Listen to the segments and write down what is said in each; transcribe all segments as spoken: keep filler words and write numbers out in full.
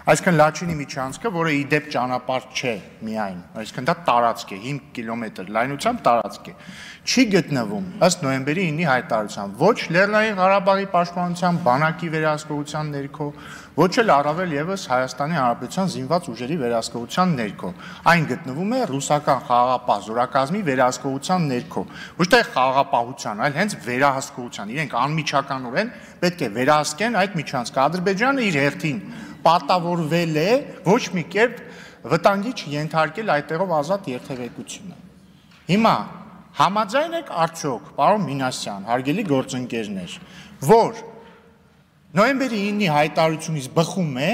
Այսինքն Լաչինի միջանցքը, որը ի դեպ ճանապարհ չէ միայն, այսինքն դա տարածք է, հինգ կիլոմետր լայնությամբ տարածք է, չի գտնվում ըստ նոյեմբերի ինի հայտարարության ոչ Լեռնային Ղարաբաղի պաշտպանության բանակի վերահսկողության ներքո, ոչ էլ առավել ևս Հայաստանի Հանրապետության զինված ուժերի վերահսկողության ներքո, այն գտնվում է ռուսական խաղաղապահ զորակազմի վերահսկողության ներքո, ոչ թե խաղաղապահության, այլ հենց վերահսկողության, իրենք անմիջականորեն պետք է վերահսկեն այդ միջանցքը, Ադրբեջանը իր հերթին պարտավորվել է ոչ մի կերպ վտանգի չենթարկել այդտեղով ազատ երթևեկությունը։ Հիմա համաձայն եք արդյոք, պարոն Մինասյան, հարգելի գործընկերներ, որ նոյեմբերի ինի հայտարարությունից բխում է,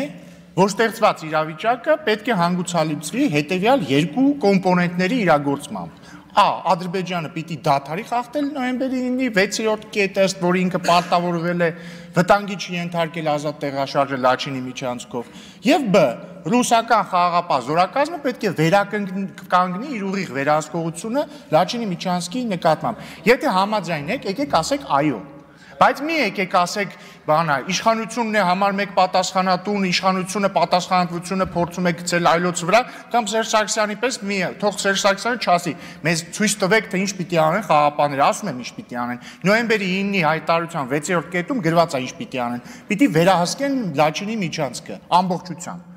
որ ստեղծված իրավիճակը պետք է հանգուցալուծվի հետևյալ երկու կոմպոնենտների իրագործմամբ։ Ա. Ադրբեջանը պիտի դադարի խախտել նոյեմբերի ինի վեցերորդ կետը, ըստ որի ինքը պարտավորվել է վտանգի չենթարկել ազատ տեղաշարժը Լաչինի միջանցքով, եւ Բ. ռուսական խաղաղապահ զորակազմը պետք է վերականգնի իր ուղիղ վերահսկողությունը Լաչինի միջանցքի նկատմամբ։ Եթե համաձայն եք, եկեք ասեք այո։ Բայց մի եկեք ասեք, բանա, իշխանությունն է համար մեկ պատասխանատուն, իշխանությունը պատասխանատվությունը փորձում է գցել այլոց վրա, կամ Սերժ Սարգսյանի պես մի թող Սերժ Սարգսյանը չասի, մեզ ցույց տվեք, թե ինչ պիտի անեն խաղաղապահները, ասում եմ ինչ պիտի անեն։ Նոյեմբերի ինի հայտարարության վեցերորդ կետում գրված է ինչ պիտի անեն։ Պիտի վերահսկեն Լաչինի միջանցքը ամբողջությամբ։